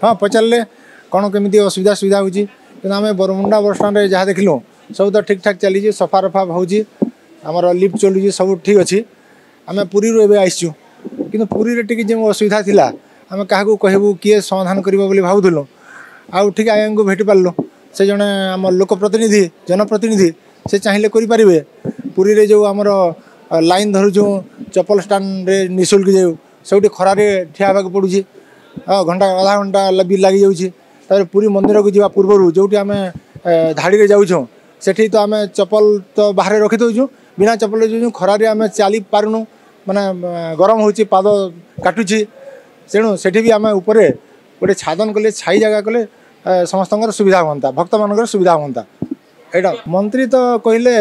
ହଁ, ପଚାରିଲେ କ'ଣ କେମିତି ଅସୁବିଧା ସୁବିଧା ହେଉଛି। କିନ୍ତୁ ଆମେ ବରମୁଣ୍ଡା ବସଷ୍ଟାଣ୍ଡରେ ଯାହା ଦେଖିଲୁ, ସବୁ ତ ଠିକ୍ଠାକ୍ ଚାଲିଛି, ସଫା ରଫା ହେଉଛି, ଆମର ଲିଫ୍ଟ ଚଲୁଛି, ସବୁ ଠିକ୍ ଅଛି। ଆମେ ପୁରୀରୁ ଏବେ ଆସିଛୁ, କିନ୍ତୁ ପୁରୀରେ ଟିକେ ଯେଉଁ ଅସୁବିଧା ଥିଲା, ଆମେ କାହାକୁ କହିବୁ, କିଏ ସମାଧାନ କରିବ ବୋଲି ଭାବୁଥିଲୁ। ଆଉ ଠିକ୍ ଆଜ୍ଞାଙ୍କୁ ଭେଟି ପାରିଲୁ। ସେ ଜଣେ ଆମ ଲୋକ ପ୍ରତିନିଧି, ଜନପ୍ରତିନିଧି, ସେ ଚାହିଁଲେ କରିପାରିବେ। ପୁରୀରେ ଯେଉଁ ଆମର ଲାଇନ୍ ଧରୁଛୁ ଚପଲ ଷ୍ଟାଣ୍ଡରେ ନିଃଶୁଳ୍କ, ଯେଉଁ ସବୁଠି ଖରାରେ ଠିଆ ହେବାକୁ ପଡ଼ୁଛି, ଘଣ୍ଟା ଅଧା ଘଣ୍ଟା ବି ଲାଗିଯାଉଛି। ତାପରେ ପୁରୀ ମନ୍ଦିରକୁ ଯିବା ପୂର୍ବରୁ ଯେଉଁଠି ଆମେ ଧାଡ଼ିରେ ଯାଉଛୁ, ସେଠି ତ ଆମେ ଚପଲ ତ ବାହାରେ ରଖିଦେଉଛୁ, ବିନା ଚପଲରେ ଯାଉଛୁ। ଖରାରେ ଆମେ ଚାଲି ପାରୁନୁ, ମାନେ ଗରମ ହେଉଛି, ପାଦ କାଟୁଛି। ତେଣୁ ସେଠି ବି ଆମେ ଉପରେ ଗୋଟେ ଛାଦନ କଲେ, ଛାଇ ଜାଗା କଲେ ସମସ୍ତଙ୍କର ସୁବିଧା ହୁଅନ୍ତା, ଭକ୍ତମାନଙ୍କର ସୁବିଧା ହୁଅନ୍ତା। ଏଇଟା ମନ୍ତ୍ରୀ ତ କହିଲେ,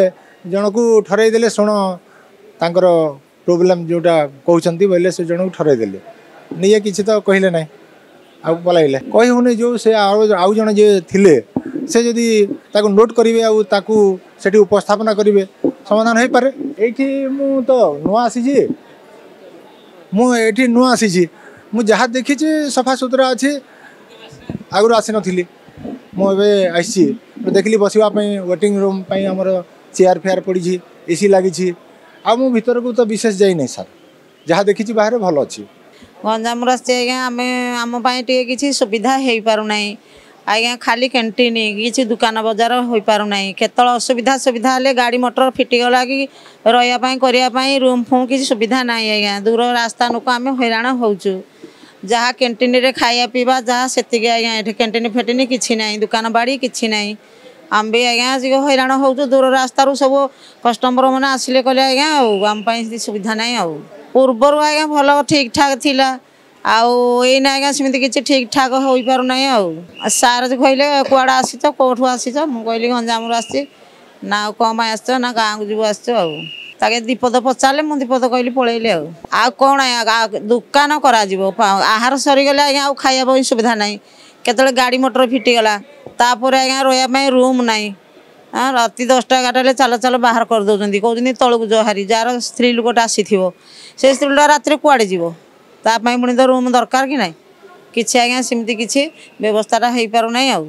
ଜଣକୁ ଠରେଇ ଦେଲେ, ଶୁଣ ତାଙ୍କର ପ୍ରୋବ୍ଲେମ୍ ଯେଉଁଟା କହୁଛନ୍ତି ବୋଇଲେ। ସେ ଜଣକୁ ଠରେଇ ଦେଲେ, ନିଜେ କିଛି ତ କହିଲେ ନାହିଁ ଆଉ ପଲାଇଲେ। କହି ହେଉନି। ଯେଉଁ ସେ ଆଉ ଜଣେ ଯିଏ ଥିଲେ, ସେ ଯଦି ତାକୁ ନୋଟ୍ କରିବେ ଆଉ ତାକୁ ସେଠି ଉପସ୍ଥାପନା କରିବେ, ସମାଧାନ ହେଇପାରେ। ଏଇଠି ମୁଁ ତ ନୂଆ ଆସିଛି, ମୁଁ ଏଇଠି ନୂଆ ଆସିଛି। ମୁଁ ଯାହା ଦେଖିଛି ସଫାସୁତୁରା ଅଛି। ଆଗରୁ ଆସିନଥିଲି, ମୁଁ ଏବେ ଆସିଛି। ଦେଖିଲି ବସିବା ପାଇଁ ୱେଟିଂ ରୁମ୍ ପାଇଁ ଆମର ଚେୟାର ଫେୟାର ପଡ଼ିଛି, ଏସି ଲାଗିଛି। ଆଉ ମୁଁ ଭିତରକୁ ତ ବିଶେଷ ଯାଇନାହିଁ ସାର୍, ଯାହା ଦେଖିଛି ବାହାରେ ଭଲ ଅଛି। ଗଞ୍ଜାମରୁ ଆସିଛି ଆଜ୍ଞା। ଆମେ ଆମ ପାଇଁ ଟିକେ କିଛି ସୁବିଧା ହେଇପାରୁନାହିଁ ଆଜ୍ଞା। ଖାଲି କ୍ୟାଣ୍ଟିନ୍, କିଛି ଦୋକାନ ବଜାର ହୋଇପାରୁନାହିଁ। କେତେବେଳେ ଅସୁବିଧା ସୁବିଧା ହେଲେ ଗାଡ଼ି ମଟର ଫିଟିଗଲା କି ରହିବା ପାଇଁ କରିବା ପାଇଁ ରୁମ୍ ଫୁମ୍ କିଛି ସୁବିଧା ନାହିଁ ଆଜ୍ଞା। ଦୂର ରାସ୍ତା ଲୋକ ଆମେ ହଇରାଣ ହେଉଛୁ। ଯାହା କ୍ୟାଣ୍ଟିନ୍ରେ ଖାଇବା ପିଇବା ଯାହା ସେତିକି ଆଜ୍ଞା। ଏଠି କ୍ୟାଣ୍ଟିନ୍ ଫେଣ୍ଟିନ୍ କିଛି ନାହିଁ, ଦୋକାନ ବାଡ଼ି କିଛି ନାହିଁ। ଆମେ ବି ଆଜ୍ଞା ଆସିକି ହଇରାଣ ହେଉଛୁ। ଦୂର ରାସ୍ତାରୁ ସବୁ କଷ୍ଟମର ମାନେ ଆସିଲେ କହିଲେ ଆଜ୍ଞା, ଆଉ ଆମ ପାଇଁ ସୁବିଧା ନାହିଁ। ଆଉ ପୂର୍ବରୁ ଆଜ୍ଞା ଭଲ ଠିକ୍ ଠାକ୍ ଥିଲା, ଆଉ ଏଇନା ଆଜ୍ଞା ସେମିତି କିଛି ଠିକ୍ ଠାକ୍ ହୋଇପାରୁନାହିଁ। ଆଉ ସାର୍ କହିଲେ, କୁଆଡ଼େ ଆସିଛ, କେଉଁଠୁ ଆସିଛ? ମୁଁ କହିଲି ଗଞ୍ଜାମରୁ ଆସିଛି। ନା ଆଉ କ'ଣ ପାଇଁ ଆସିଛ? ନା ଗାଁକୁ ଯିବୁ ଆସିଛୁ। ଆଉ ତାକେ ଦିପଦ ପଚାରିଲେ, ମୁଁ ଦିପଦ କହିଲି, ପଳେଇଲେ। ଆଉ କ'ଣ ଆଜ୍ଞା ଦୋକାନ କରାଯିବ? ଆହାର ସରିଗଲେ ଆଜ୍ଞା ଆଉ ଖାଇବା ପାଇଁ ସୁବିଧା ନାହିଁ। କେତେବେଳେ ଗାଡ଼ି ମଟର ଫିଟିଗଲା, ତାପରେ ଆଜ୍ଞା ରହିବା ପାଇଁ ରୁମ୍ ନାହିଁ। ରାତି 10ଟା 11ଟା ହେଲେ ଚାଲ ଚାଲ ବାହାର କରିଦେଉଛନ୍ତି, କହୁଛନ୍ତି ତଳକୁ ଜହାରି। ଯାହାର ସ୍ତ୍ରୀ ଲୋକଟା ଆସିଥିବ, ସେ ସ୍ତ୍ରୀ ଲୋକଟା ରାତିରେ କୁଆଡ଼େ ଯିବ? ତା ପାଇଁ ପୁଣି ତ ରୁମ୍ ଦରକାର କି ନାହିଁ? କିଛି ଆଜ୍ଞା ସେମିତି କିଛି ବ୍ୟବସ୍ଥାଟା ହେଇପାରୁନାହିଁ ଆଉ।